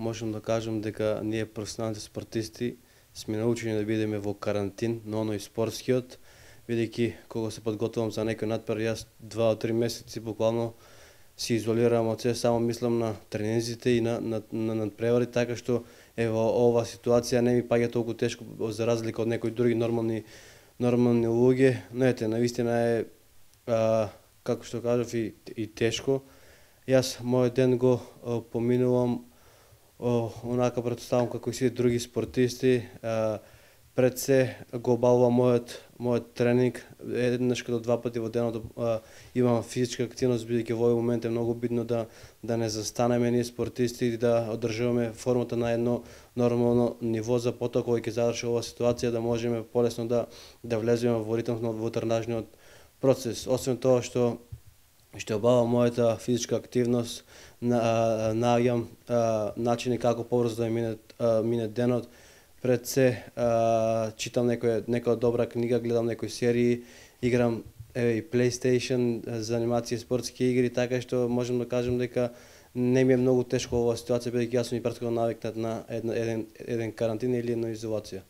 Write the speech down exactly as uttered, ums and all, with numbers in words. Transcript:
можам да кажам дека ние професионалните спортисти сме научени да бидеме во карантин, но оној спортскиот, бидејќи кога се подготвувам за некој надпревар, јас два до три месеци буквално се изолирам од се, само мислам на тренинзите и на на, на надпревари, така што ево ова ситуација не ми паѓа толку тешко за разлика од некои други нормални нормални луѓе, но ете, навистина е а, како што кажав и, и тешко. Јас мојот ден го а, поминувам о, онака претставам како и сите други спортисти. А, пред се го обавувам мојот мојот тренинг еднаш до два пати во денот. А, имам физичка активност, бидејќи во овој момент е многу битно да да не застанеме ние спортисти и да одржуваме формата на едно нормално ниво за потоа кога ќе заврши оваа ситуација да можеме полесно да да влеземе во ритмот во тренажниот процес. Освен тоа што што обавам мојата физичка активност, на наоѓам начини како побрзо да мине мине денот. Пред се а, читам некоја некоја добра книга, гледам некои серии, играм еве и PlayStation, занимации спортски игри, така што можам да кажам дека не ми е многу тешко оваа ситуација, бидејќи јас сум и претходно навикнат на еден еден еден карантин или една изолација.